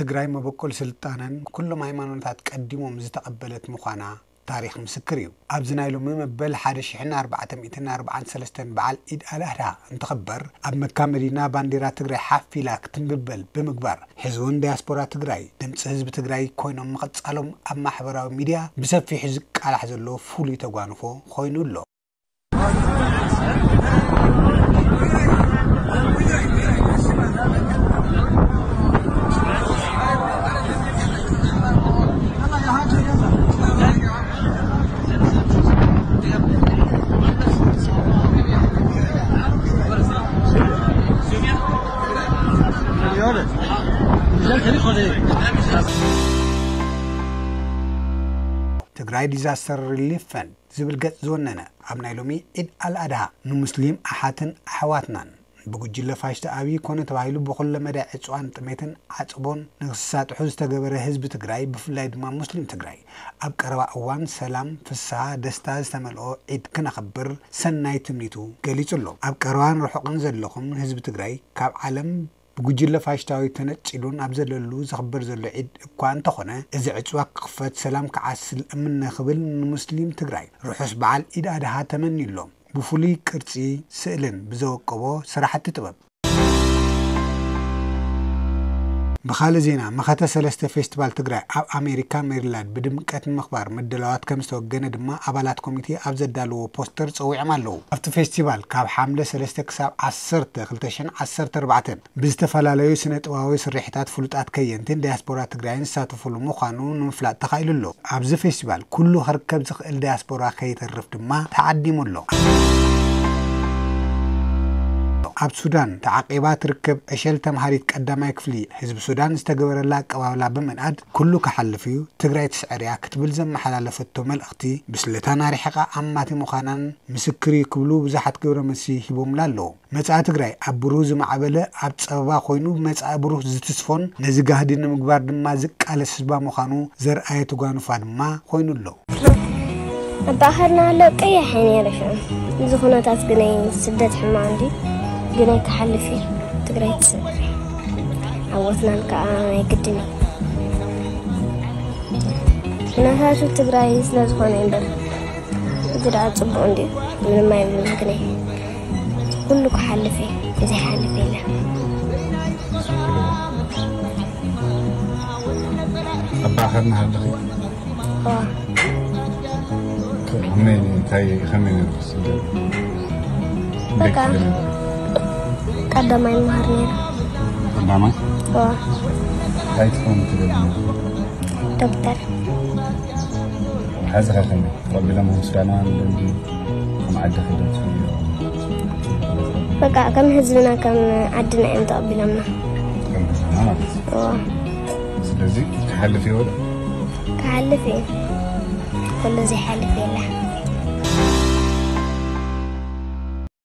ትግራይ መበቆል ስልጣነን ኩሎም ሃይማኖታት ቀዲሞም ዝተቐበለት ምዃና ታሪኽ ምስክር እዩ። ኣብዚ ናይ ሎሚ መበል ሓደ ሺሕን ኣርባዕተ ሚእትን ኣርባዓን ሰለስተን በዓል ኢድ ኣልኣድሃ እንትኽበር፣ ኣብ መካ መዲና ባንዲራ ትግራይ ሓፍ ኢላ ክትንብበል ብምግባር፣ ሕዚ እውን ዲያስፖራ ትግራይ ድምፂ ህዝቢ ትግራይ ኮይኖም ምቕፃሎም ኣብ ማሕበራዊ ሚድያ ብሰፊሑ ዝቃላሕ ዘሎ ፍሉይ ተጓንፎ ኮይኑ ኣሎ። ትግራይ ዲዛስተር ሪሊፍ ፈንድ ዝብል ገጽ ዝወነነ፣ ኣብ ናይ ሎሚ ዒድ ኣልኣድሃ ንሙስሊም ኣሓትን ኣሕዋትናን ብጉጅለ ፋሽስት ኣብይ ኮነ ተባሂሉ ብኹለ መዳይ ዕጽዋን ጥሜትን ዓጽቦን ንክሳጥሑ ዝተገበረ ህዝቢ ትግራይ፣ ብፍላይ ድማ ሙስሊም ትግራይ፣ ኣብ ቀረባ እዋን ሰላም፣ ፍስሃ፣ ደስታ ዝተመልኦ ዒድ ክነኽብር ሰናይ ትምኒቱ ገሊጹ ኣሎ። ኣብ ቀረባን ርሑቕን ዘለኹም ህዝቢ ትግራይ፣ ካብ ዓለም ብጉጅለ ፋሽስታዊ ተነጺሉ ናብ ዘለሉ ዝኽበር ዘሎ ዒድ እኳ እንተኾነ፣ እዚ ዕጽዋ ክኽፈት፣ ሰላም ክዓስል እምነ ክብል ንሙስሊም ትግራይ ርሑስ በዓል ኢድ ኣድሃ ተመንዩሎም። ብፍሉይ ቅርጺ ስእልን ብዘወቀቦ ስራሕቲ ጥበብ። ብኻልእ ዜና፣ መኸተ ሰለስተ ፌስቲቫል ትግራይ ኣብ ኣሜሪካ ሜሪላንድ ብድምቀት ንምኽባር ምድላዋት ከም ዝተወገነ ድማ ኣባላት ኮሚቴ ኣብ ዘዳለዎ ፖስተር ጸዊዖም ኣለዉ። ኣብቲ ፌስቲቫል ካብ ሓምለ ሰለስተ ክሳብ ዓሰርተ ክልተ ሽሕን ዓሰርተ ኣርባዕተን ብዝተፈላለዩ ስነ ጥበባዊ ስርሒታት ፍሉጣት ከየንትን ዲያስፖራ ትግራይን ዝሳተፉሉ ምዃኑ ንምፍላጥ ተኻኢሉ ኣሎ። ኣብዚ ፌስቲቫል ኩሉ ክርከብ ዝኽእል ዲያስፖራ ከይተርፍ ድማ ተዓዲሙ ኣሎ። ኣብ ሱዳን ተዓቂባ ትርከብ ዕሸል ተምሃሪት ቀዳማይ ክፍሊ ህዝቢ ሱዳን ዝተገበረላ ኣቀባብላ ብምንኣድ፣ ኩሉ ክሓልፍ እዩ፣ ትግራይ ትስዕር እያ ክትብል ዘመሓላለፈቶ መልእኽቲ፣ ብስለታን ኣርሒቓ ኣማቲ ምዃናን ምስክር እዩ ክብሉ ብዙሓት ግብረ መልሲ ሂቦምላ ኣለዉ። መጻኢ ትግራይ ኣብ ብሩህ ዝማዕበለ፣ ኣብ ጸበባ ኮይኑ መጻኢ ብሩህ ዝትስፎን ነዚ ጋህዲ ንምግባር ድማ ዝቃለስ ህዝባ ምዃኑ ዘርኣየ ተጓንፋ ድማ ኮይኑ ኣሎ። ኣባኸርና ኣሎ ቀያሕ እየ ነይረ ሽዑ። እዚ ኩነታት ግነይ ስደት ሕማቕ እንዲ ግነይ ክሓልፍ እዩ። ትግራይ ትስዕር። ዓወትናን ከዓ ናይ ግድን እዩ። ኩነታቱ ትግራይ ስለ ዝኾነ እምበር፣ እዚ ደኣ ጽቡቕ እንድዩ። ምንም ኣይብሉን ግነይ። ኩሉ ክሓልፍ እዩ። እዚ ሓልፍ የለን። ኣባኸርና ኣለኺ? እዋ። ከመይ፣ እንታይ፣ ከመይ ነይሩ ስደት? በቃ፣ ቀዳማይ መሃር ነይሩ። ቀዳማይ? እዋ። እንታይ ትኾን ትደሊ? ዶክተር። መሓዝኻ ከመይ? ተቐቢሎምኹም ሱዳናውያን ደንዲ ከም ዓዲ ክደት? በቃ፣ ከም ህዝብና፣ ከም ዓድና እዮም ተቐቢሎምና። ከም ህዝብና ማለት እዩ። እዋ። ስለዚ ክሓልፍ እዩ ወደ? ክሓልፍ እዩ። ኩሉ ዘይሓልፍ የለ።